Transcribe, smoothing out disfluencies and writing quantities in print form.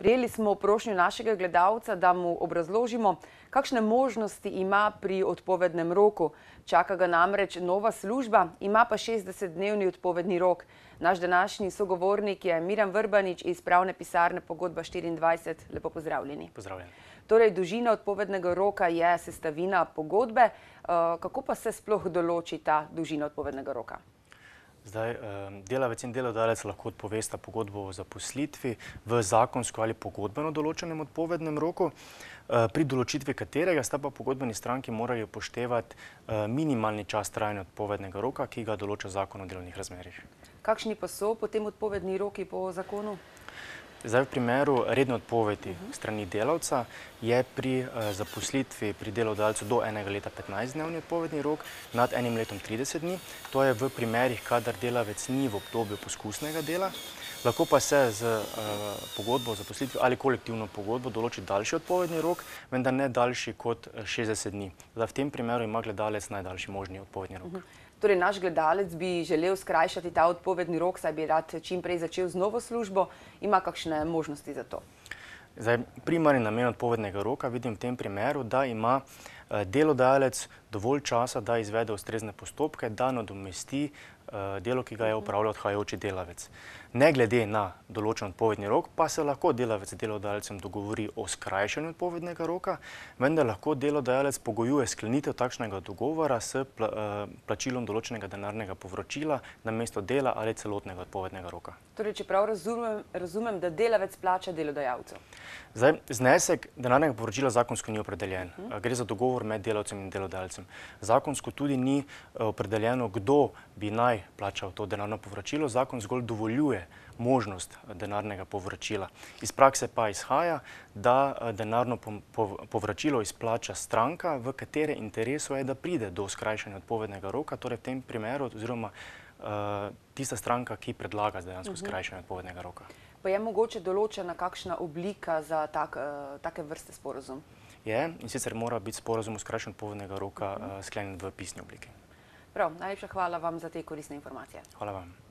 Prejeli smo prošnjo našega gledalca, da mu obrazložimo, kakšne možnosti ima pri odpovednem roku. Čaka ga namreč nova služba, ima pa 60-dnevni odpovedni rok. Naš današnji sogovornik je Miran Vrbanič iz pravne pisarne Pogodba 24. Lepo pozdravljeni. Pozdravljeni. Torej, dolžina odpovednega roka je sestavina pogodbe. Kako pa se sploh določi ta dolžina odpovednega roka? Zdaj, delavec in delodajalec lahko odpovesta pogodbo o zaposlitvi v zakonsko ali pogodbeno določenem odpovednem roku, pri določitvi katerega sta pa pogodbeni stranki morali upoštevati minimalni čas trajanja odpovednega roka, ki ga določa Zakon o delovnih razmerjih. Kakšni pa so potem odpovedni roki po zakonu? Zdaj, v primeru redne odpovedi strani delavca je pri zaposlitvi pri delodajalcu do enega leta 15-dnevni odpovedni rok, nad enim letom 30 dni. To je v primerih, kadar delavec ni v obdobju poskusnega dela. Lahko pa se z pogodbo o zaposlitvi ali kolektivno pogodbo določi daljši odpovedni rok, vendar ne daljši kot 60 dni. Zdaj, v tem primeru ima gledalec najdaljši možni odpovedni rok. Torej, naš gledalec bi želel skrajšati ta odpovedni rok, saj bi rad čim prej začel z novo službo. Ima kakšne možnosti za to? Zdaj, primarni namen odpovednega roka vidim v tem primeru, da ima delodajalec dovolj časa, da izvede ustrezne postopke, da nadomesti delo, ki ga je opravljal odhajajoči delavec. Ne glede na določen odpovedni rok, pa se lahko delavec z delodajalcem dogovori o skrajšanju odpovednega roka, vendar lahko delodajalec pogojuje sklenitev takšnega dogovora s plačilom določenega denarnega povračila namesto dela ali celotnega odpovednega roka. Torej, če prav razumem, da delavec plača delodajalcu. Zdaj, znesek denarnega povračila zakonsko ni opredeljen. Gre za dogovor med delavcem in delodajalcem. Zakonsko tudi ni opredeljeno, kdo bi naj plačal to denarno povračilo. Zakon zgolj dovoljuje možnost denarnega povračila. Iz prakse pa izhaja, da denarno povračilo izplača stranka, v katere interesu je, da pride do skrajšanja odpovednega roka, torej v tem primeru oziroma tista stranka, ki predlaga dejansko skrajšanje odpovednega roka. Pa je mogoče določena kakšna oblika za take vrste sporazum? Je, in sicer mora biti sporazum o skrajšanju odpovednega roka sklenjen v pisni obliki. Prav, najlepša hvala vam za te koristne informacije. Hvala vam.